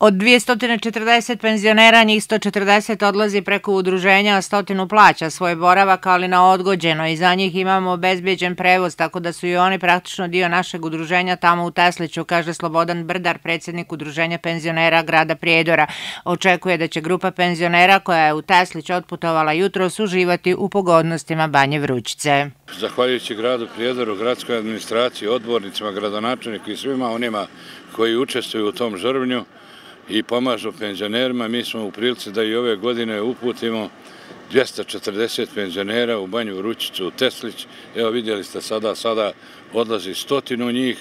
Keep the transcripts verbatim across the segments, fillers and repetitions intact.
Od dvjesto četrdeset penzionera, njih sto četrdeset odlazi preko udruženja, a stotinu plaća svoj boravak, ali na odgođeno, i za njih imamo obezbeđen prevoz, tako da su i oni praktično dio našeg udruženja tamo u Tesliću, kaže Slobodan Brdar, predsjednik udruženja penzionera grada Prijedora. Očekuje da će grupa penzionera koja je u Teslić otputovala jutros uživati u pogodnostima Banje Vrućice. Zahvaljujući gradu Prijedoru, gradskoj administraciji, odbornicima, gradonačelniku i svima onima koji učestvuju u tom žrvnju i pomažu penzionerima, mi smo u prilici da i ove godine uputimo dvjesto četrdeset penzionera u Banju Vrućicu, u Teslić. Evo vidjeli ste sada, sada odlazi stotinu njih,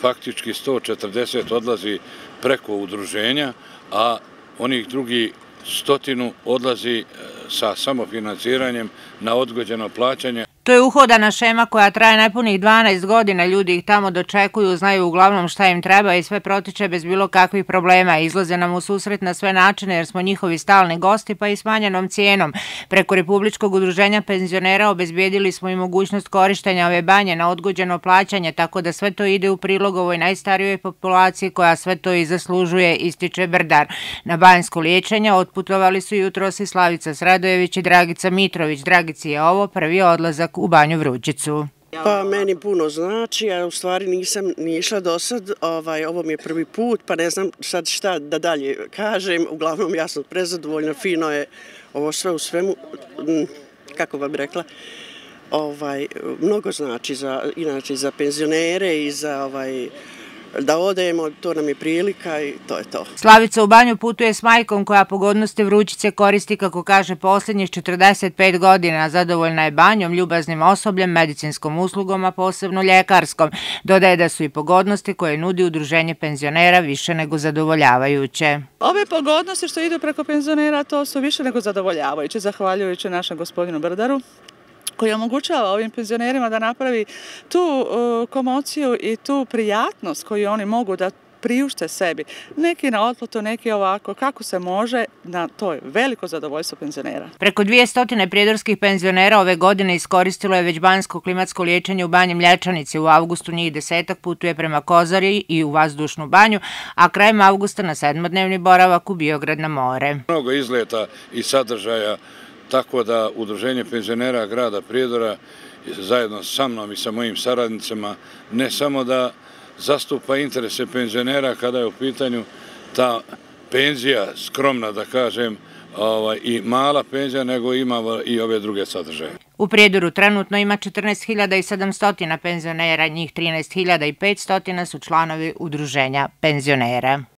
faktički sto četrdeset odlazi preko udruženja, a onih drugi stotinu odlazi sa samofinanciranjem na odgođeno plaćanje. To je uhodana šema koja traje nepunih dvanaest godina, ljudi ih tamo dočekuju, znaju uglavnom šta im treba i sve protiče bez bilo kakvih problema. Izlaze nam u susret na sve načine jer smo njihovi stalni gosti, pa i smanjenom cijenom. Preko Republičkog udruženja penzionera obezbijedili smo i mogućnost korištenja ove banje na odgođeno plaćanje, tako da sve to ide u prilog ovoj najstarijoj populaciji koja sve to i zaslužuje, ističe Brdar. Na banjsko liječenje otputovali su jutros i Slavica Sredojević i Dragica Mitrović. Dragici je ovo prvi odlazak u Banju Vrućicu. Pa meni puno znači, a u stvari nisam ni išla do sad, ovaj, ovo mi je prvi put, pa ne znam sad šta da dalje kažem, uglavnom ja sam prezadovoljna, fino je ovo sve u svemu, kako vam rekla, ovaj, mnogo znači za, inače za penzionere i za ovaj, da odemo, to nam je prilika i to je to. Slavica u banju putuje s majkom koja pogodnosti Vrućice koristi, kako kaže, posljednjih četrdeset pet godina. Zadovoljna je banjom, ljubaznim osobljem, medicinskom uslugom, a posebno ljekarskom. Dodaje da su i pogodnosti koje nudi udruženje penzionera više nego zadovoljavajuće. Ove pogodnosti što idu preko penzionera, to su više nego zadovoljavajuće, zahvaljujući našem gospodinu Brdaru, koji omogućava ovim penzionerima da napravi tu uh, komociju i tu prijatnost koju oni mogu da priušte sebi. Neki na otplatu, neki ovako, kako se može, na to je veliko zadovoljstvo penzionera. Preko dvjesto prijedorskih penzionera ove godine iskoristilo je već banjsko klimatsko liječenje u Banji Mlječanici. U avgustu njih desetak putuje prema Kozari i u vazdušnu banju, a krajem avgusta na sedmodnevni boravak u Biograd na more. Mnogo izleta i sadržaja, tako da udruženje penzionera grada Prijedora zajedno sa mnom i sa mojim saradnicima ne samo da zastupa interese penzionera kada je u pitanju ta penzija, skromna da kažem, ovaj, i mala penzija, nego ima i ove druge sadržaje. U Prijedoru trenutno ima četrnaest hiljada sedamsto penzionera, njih trinaest hiljada petsto su članovi udruženja penzionera.